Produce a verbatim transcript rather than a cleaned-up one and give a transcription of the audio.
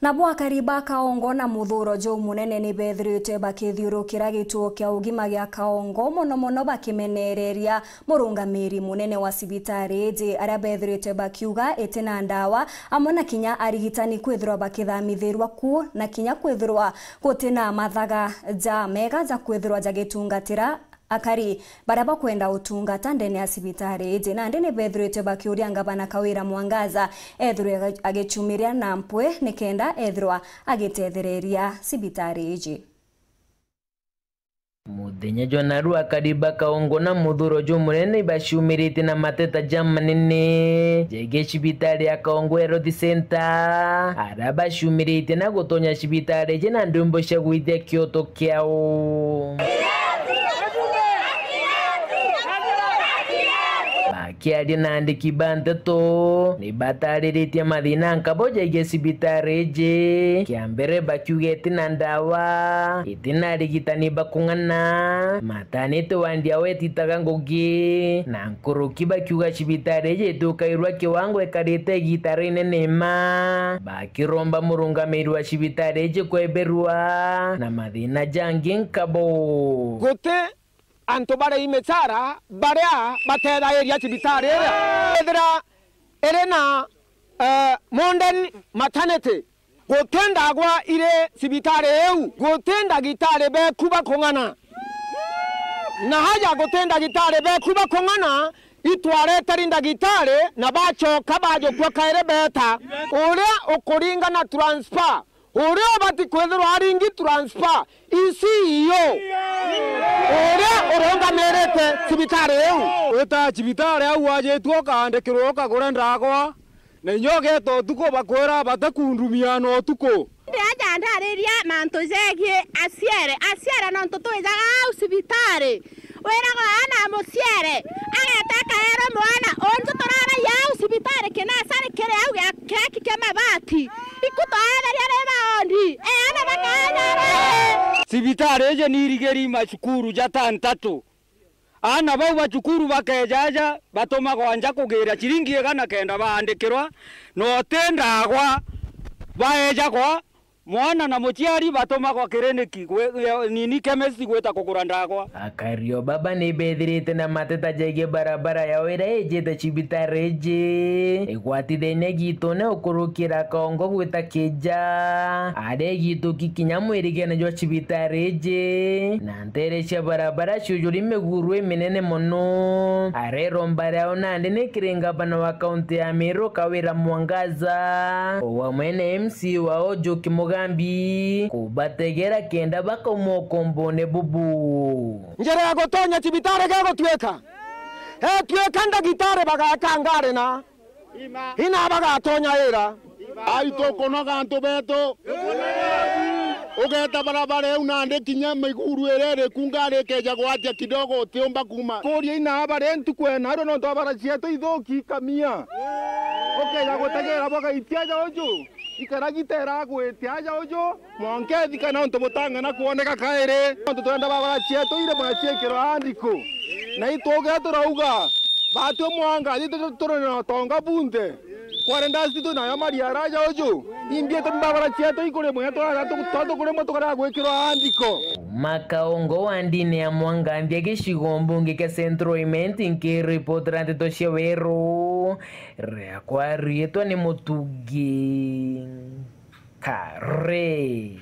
Nabo akari ba Kaongo na muthuro jumunene ni bethiritwe bakithiurukira gituo kia ugima gia Kaongo, mono mono bakimenereria murungamiri munene wa cibitari iji, aria bethiritwe bakiuga iti na ndawa, amwe na kinya arigitani kwithirwa bakithamithirwa ku, na kinya kwithirwa guti na mathaga ja mega ja kwithirwa jagitungatira akari baria bakwenda utungata ndene ya cibitari iji. Nandi ni bethiritwe bakiuria ngavana Kawira Mwangaza ethirwe agichumiria na mpwi nikenda ethirwa agitethereria cibitari iji. Muthenya jwa narua, akari ba Kaongo na muthuro jumunene ibaciumiritie na mateta jamanene jegie cibitari ya Kaongo Health Centre, aria baciumiritie na gutonya cibitari iji na ndwimbo cia gwithia kioto kiao. Bakiaria na andiki ba nteto, ni batariritie mathina nkabo jegie cibitari iji. Kia mbere, bakiuga iti na ndawa, iti na arigitani ba kung'ana, matanite wandi yao ititaga ngugi, na nkuruki bakiuga cibitari iji itukairwa kiwango ikarite igita rinene ma. Bakiromba murungamiri wa cibitari iji kweberwa na mathina jangi nkabo. Guti antu bari imichara baria batethairia cibitari iria. Ethira iri na, eh, modern maternity, guti ndagwa iri cibitari iu, guti ndagitari beku ba kung'ana. Na haja guti ndagitari beku ba kung'ana, itwareteri ndagitari na bacoka bajukua kairi beta. Uria ukuringa na transfer, uria ubati kwithirwa aringi transfer, i C E O. Uria urungamirite cibitari iu. Wita cibitari au wajitue ukaandikirwa ukagure ndagwa, na inya ugeeta utuku bakwira batikundumia na utuku. Ndi aja ndariria mantu jegie aciere. Aciere nontu twijaga au cibitari. Wiragwa ana muciere, ageta akaerwa mwana, unju turaragia au cibitari kinasari kiri au gia kiraki kia mabati. Iku twaetheria ri baondi, eana bakaenyara. Cibitari iji ni irigiri macukuru jatantatu. Aana bau ba cukuru bakeeja aja, batumagwa nja kugiira ciringi igana kenda baandikirwa, na uti ndagwa baejagwa. Mwana na muciari batumagwa kiriniki gwi-, nini chemist gwita kugura ndagwa. Akari o baba ni bethirite na mateta jegie barabara yao iria ijite cibitari iji, igwatithenie gitone ukurukira Kaongo gwita Kija, aria igituki kinya mwirigene jwa cibitari iji, na ntere cia barabara ciujuri miguru iminene mono. Areromba riao nandi ni kiri ngavana wa kaunti ya Meru Kawira Mwangaza, o amwe na M C wao Njuki Mugambi, kubategera kenda bakauma ukombone bubu. Njira ya gutonya cibitari gegutwika, etwika ndagitari bagaka ngari na ina bagatonya ira. Ai, tukunoga antu betu. Ugeta barabara iu nandi kinya miguru iria iriku ngari ikeja gwatia kidogo utiumba kuma. Kuria ina abari ntuku ena ario nontu abara cietu ithuki kamia. Ukeja gutegera bwagaitia aja uju. Ikara gitera agwitia aja uju. Mwanka ethika nontu butang'ana kwoneka kairi. Nontu twenda barabara cietu ire bwaciikirwa andiko. Na ituge turauga, batwe mwanga, itwe turi na utonga bunthe. Kware ndasi tu nayo mari araja uju. Imbi tu mbabara cietu ikuri mwe twara tu, tu, tu kuri mwe tukara gwikirwa andiko. Makaongo wa ndini ya Mwanganthia gicigo mbunge kia Central Imenti nkiripotera nteto cia Weru. Riakwa riitwa ni Mutugi Kare.